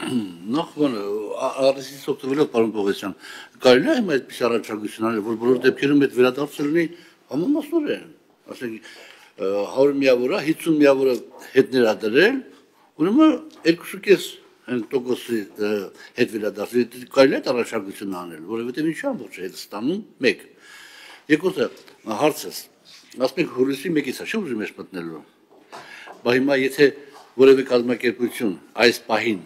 Նախ առեսից օգտվելով պարոն Պողոսյան, կարելի է այդպես առաջարկություն անել, որ բոլոր դեպքերում այդ վերադարձը լինի համամասնորեն, ասենք 100 միավորը, 50 միավորը հետ ներադրել, ուրեմն 2.5% հետ վերադարձել, կարելի է այդ առաջարկություն անել, որովհետև ինչի ամբողջ հետ ստանում 1։ Երկրորդը հարցս, ասում եք հուլիսի 1-ից է, չի ուզում ես մտնելու։ Բայց հիմա եթե որևէ կազմակերպություն այս պահին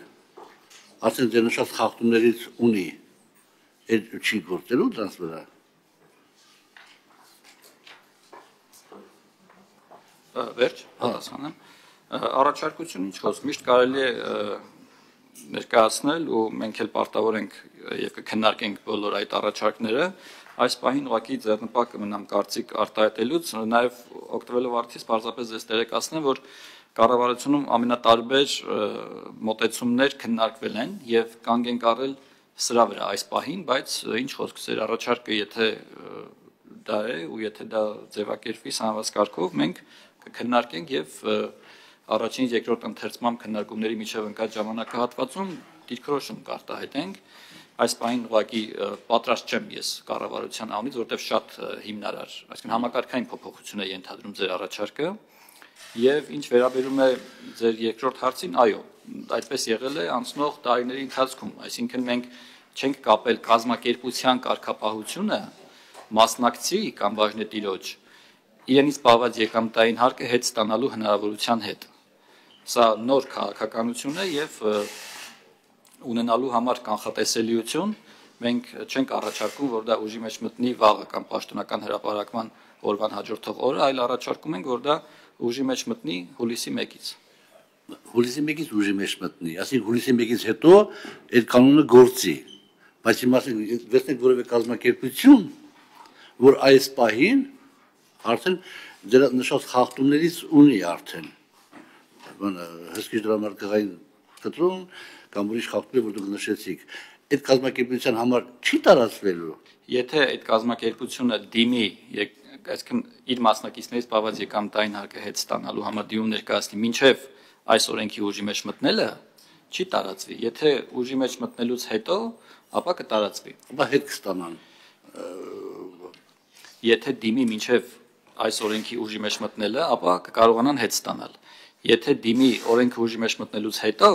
ասեն ձեր նշած խախտումներից ունի, այդ չի գործելու դրանց վրա։ Վերջ, պատասխանեմ։ Առաջարկություն ինչ խոսք, միշտ կարելի է ներկայացնել ու մենք էլ պարտավոր ենք եւ կքննարկենք բոլոր այդ առաջարկները, այս պահին ուղղակի ձեռնպատ կմնամ կարծիք արտահայտելուց, նաեւ օգտվելով արդյունքից պարզապես ես տեղեկացնեմ, որ կառավարությունում ամենատարբեր մոտեցումներ քննարկվել են եւ կանգ են առել սրա վրա այս պահին, բայց ինչ խոսք, ծեր առաջարկը եթե դա է ու եթե դա ձևակերպվի սահմանված կարգով, մենք կքննարկենք եւ առաջին երկրորդ ընթերցման քննարկումների միջև ընկած ժամանակահատվածում դիրքորոշում կարտահայտենք։ Այս պահին ուղղակի պատրաստ չեմ ես կառավարության անունից, որտեղ շատ հիմնարար, այսինքն համակարգային փոփոխություն է ենթադրում ձեր առաջարկը։ Եվ ինչ վերաբերում է ձեր երկրորդ հարցին, այո, այդպես եղել է անցնող տարիների ընթացքում, այսինքն մենք չենք կապել կազմակերպության կարգապահությունը մասնակցի կամ բաժնետիրոջ իրենից պահված եկամտային հարկը հետ ստանալու հնարավորության հետ։ Սա նոր քաղաքականություն է եւ ունենալու համար կանխատեսելիություն մենք չենք առաջարկում, որ դա ուժի մեջ մտնի վաղը կամ պաշտոնական հրապարակման օրվան հաջորդող օրը, այլ առաջարկում ենք, որ դա ուժի մեջ մտնի հուլիսի 1-ից։ Հուլիսի 1-ից ուժի մեջ մտնի, ասենք հուլիսի 1-ից հետո այդ կանոնը գործի, բայց հիմա ասենք վերցնենք որևէ կազմակերպություն, որ այս պահին արդեն դրա նշած խախտումներից ունի արդեն հսկիչ դրամարկղային կտրում կամ ուրիշ խախտումներ, որ դուք նշեցիք, այդ կազմակերպության համար չի տարածվելու։ Եթե այդ կազմակերպությունը դիմի, այսինքն իր մասնակիցներից պահված եկամտային հարկը հետ ստանալու համար դիմում ներկայացնի մինչև այս օրենքի ուժի մեջ մտնելը, չի տարածվի։ Եթե ուժի մեջ մտնելուց հետո, ապա կտարածվի։ Ապա հետ կստանան։ Եթե դիմի մինչև այս օրենքի ուժի մեջ մտնելը, ապա կկարողանան հետ ստանալ։ Եթե դիմի օրենքը ուժի մեջ մտնելուց հետո,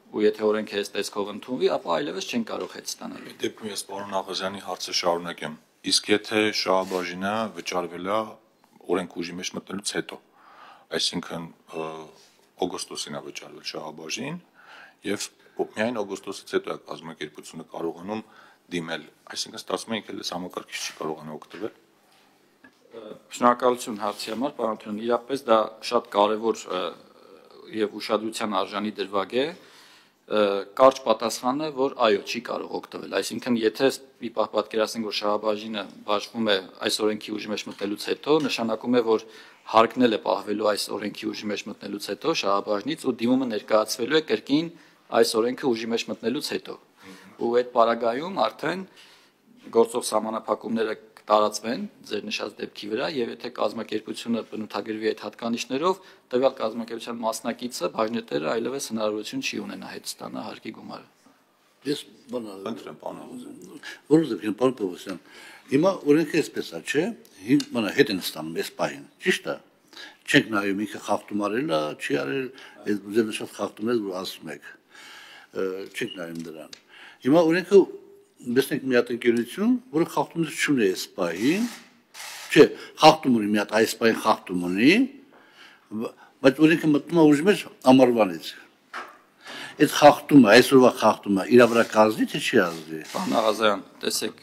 ու եթե օրենքը այս տեսքով ընդունվի, ապա այլևս չեն կարող հետ ստանալ։ Այդ դեպքում ես պարոն Աղազյանի հարցը շարունակեմ։ Իսկ եթե շահաբաժինը վճարվել է օրենքը ուժի մեջ մտնելուց հետո, այսինքն օգոստոսին է վճարվել շահաբաժին եւ միայն օգոստոսից հետո է կազմակերպությունը կարողանում դիմել, այսինքն ստացվում է ինքը լես համակարգիչ չի կարողանա օգտվել։ Շնորհակալություն հարցի համար, պարոն Թյոն, իրապես դա շատ կարևոր եւ ուշադրության արժանի դրվագ է։ Կարճ պատասխանը, որ այո, չի կարող օգտվել, այսինքն եթե մի պահ պատկերացնենք, որ շահաբաժինը բաշխվում է այս օրենքի ուժի մեջ մտնելուց հետո, նշանակում է, որ հարկնել է պահվելու այս օրենքի ուժի մեջ մտնելուց հետո շահաբաժնից ու դիմումը ներկայացվելու է կրկին այս օրենքը ուժի մեջ մտնելուց հետո։ Ու այդ պարագայում արդեն գործող սահմանափակումները տարածվեն ձեր նշած դեպքի վրա եւ եթե կազմակերպությունը բնութագրվի այդ հատկանիշներով, տվյալ կազմակերպության մասնակիցը բաժնետերը այլևս հնարավորություն չի ունենա հետ ստանա հարկի գումարը։ Ես Ընտրեմ պարոն Աղազյան։ Որովհետև պարոն Պողոսյան, հիմա օրենքը էսպես է, չէ՞, հետ են ստանում այս պահին, ճիշտ է։ Չենք նայում ինքը խախտում արել է, չի արել, այդ ձեր նշած խախտումներ որ ասում եք։ Չենք նայում դրան։ Հիմա օրենքը Տեսնենք մի հատ ընկերություն, որը խախտումներ չունի այս պահին, չէ, խախտում ունի մի հատ այս պահին խախտում ունի, բայց օրենքը մտնում է ուժի մեջ ամառվանից։ Այդ խախտումը, այսօրվա խախտումը իր վրա կազդի թե չի ազդի։ Պարոն Աղազյան, տեսեք,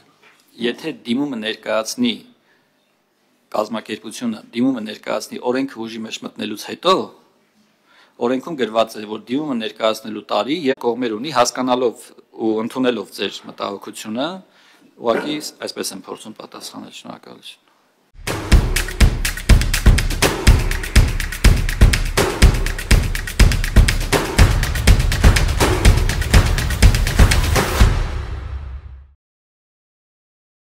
եթե դիմումը ներկայացնի կազմակերպությունը, դիմումը ներկայացնի օրենքը ուժի մեջ մտնելուց հետո, օրենքում գրված է, որ դիմումը ներկայացնելու տարի եւ կողմեր ունի հասկանալով ու ընդունելով ձեր մտահոգությունը, ուղղակի այսպես եմ փորձում պատասխանել, շնորհակալություն։